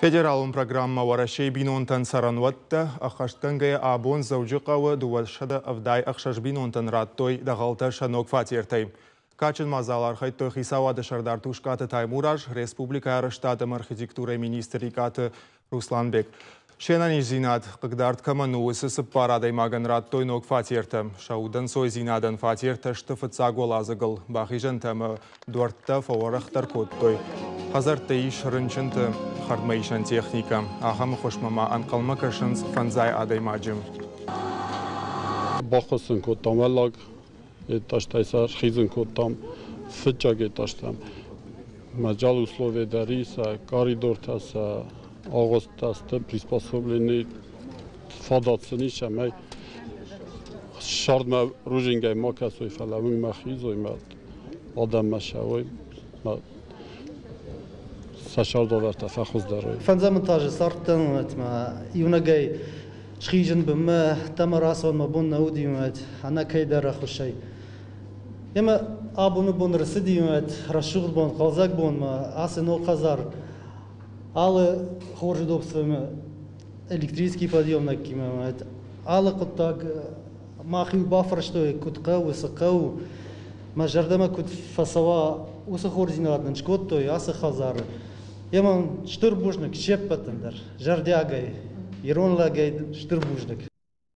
Федералон программӕ Уӕрӕсейы бинонтӕн цӕрӕнуӕттӕ ӕххӕстгӕнгӕйӕ абон Дзӕуджыхъӕуы 276 бинонтӕн радтой дӕгъӕлтӕ сӕ ног фатертӕй. Кадджын мадзалы архайдтой хицауады сӕрдар Тускъаты Таймураз, республикӕйы арӕзтад ӕмӕ архитектурӕйы министр Икъаты Русланбег. Се нӕниздзинад хъыгдард кӕмӕн у, уыцы цыппар адӕймагӕн радтой ног фатертӕ. Сӕ удӕнцойдзинадӕн фатертӕ сты фыццаг уӕладзыгыл, бахизӕнтӕ ӕмӕ дуӕрттӕ фӕуӕрӕхдӕр кодтой. Хӕдзӕртты ис рынчынты хӕрдмӕисӕн техникӕ. Ахӕм ӕххуысмӕ ма ӕнхъӕлмӕ кӕсынц фӕндзай адӕймаджы. Баххуыс сын кодтам уӕллаг этажтӕй сӕ схизын кодтам фыццаг этажтӕм. Мадзал условия дӕр и сӕ коридортӕ, сӕ агъуысттӕ сты приспособлены, фадат сын ис, цӕмӕй сӕрдмӕ рудзынгӕй ма кӕсой, фӕлӕ уынгмӕ хизой, мӕ адӕммӕ цӕуой, мӕ сӕ цардуавӕртӕ фӕхуыздӕр уой. Фӕндзӕм этажы цардтӕн иунӕгӕй схизын бынмӕ, ӕмӕ рацӕуын мӕ бон нӕ уыди, ӕнӕ кӕйдӕр ӕххуысӕй. Ӕмӕ абоны бон рцыди рӕсугъд бон, хъӕлдзӕг бонмӕ, ацы ног хӕдзар алы хорз удобствоимӕ, электрический подъемникимӕ, алы хъуыддаг мах-иу бафарстой, куыд хъӕуы, цы хъӕуы. Мӕ зӕрдӕмӕ куыд фӕцӕуа, уыцы хорздзинад нын скодтой ацы хӕдзары. Ӕмӕ стыр бузныг се ппӕтӕн дӕр, зӕрдиагӕй, ирон лӕгӕй стыр бузныг.